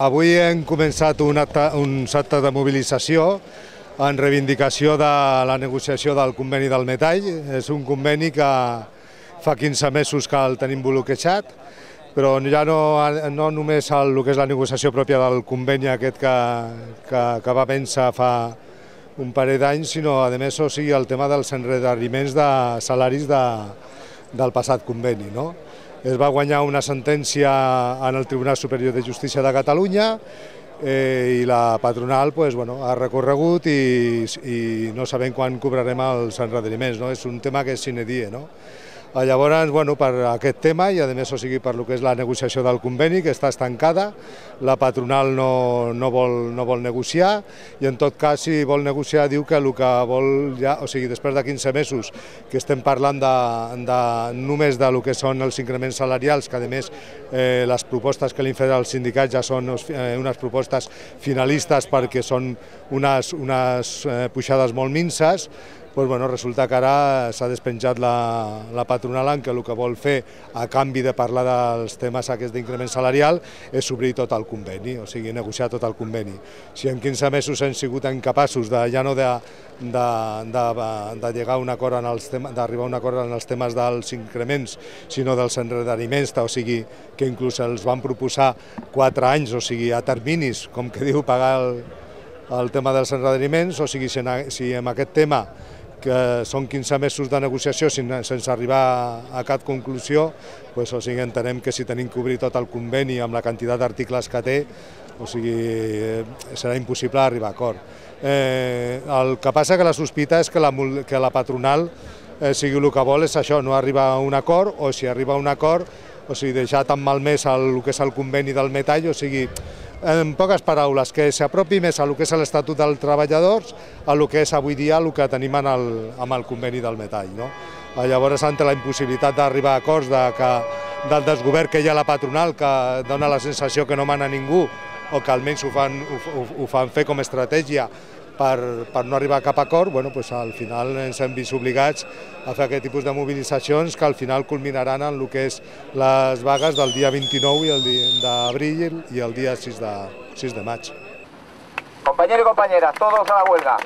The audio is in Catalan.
Avui hem començat un acte de mobilització en reivindicació de la negociació del conveni del metall. És un conveni que fa 15 mesos que el tenim bloquejat, però ja no només el que és la negociació pròpia del conveni aquest que va vèncer fa un parell d'anys, sinó a més el tema dels endarreriments de salaris del passat conveni. Es va guanyar una sentència en el Tribunal Superior de Justícia de Catalunya i la patronal ha recorregut i no sabem quan cobrarem els endarreriments. És un tema que és sine die. Llavors, per aquest tema i a més per el que és la negociació del conveni, que està estancada, la patronal no vol negociar i en tot cas si vol negociar diu que el que vol ja, després de 15 mesos que estem parlant només del que són els increments salarials, que a més les propostes que li han fet els sindicats ja són unes propostes finalistes perquè són unes pujades molt minses, resulta que ara s'ha despenjat la patronal en què el que vol fer a canvi de parlar dels temes aquests d'increment salarial és obrir tot el conveni, o sigui, negociar tot el conveni. Si en 15 mesos hem sigut incapaços ja no d'arribar a un acord en els temes dels increments, sinó dels endarreriments, o sigui, que inclús els van proposar 4 anys, o sigui, a terminis, com que diu, pagar el tema dels endarreriments, o sigui, si en aquest tema que són 15 mesos de negociació sense arribar a cap conclusió, entenem que si tenim que obrir tot el conveni amb la quantitat d'articles que té, serà impossible arribar a acord. El que passa que la sospita és que la patronal el que vol és això, no arribar a un acord, o si arriba a un acord, deixar tan malmès el que és el conveni del metall, en poques paraules, que s'apropi més a el que és l'Estatut dels Treballadors a el que és avui dia el que tenim amb el conveni del metall. Llavors, ante la impossibilitat d'arribar a acords del desgovern que hi ha a la patronal, que dona la sensació que no mana ningú, o que almenys ho fan fer com a estratègia per no arribar a cap acord, al final ens hem vist obligats a fer aquest tipus de mobilitzacions que al final culminaran en el que és les vagues del dia 29 d'abril i el dia 6 de maig. Compañeros y compañeras, todos a la huelga.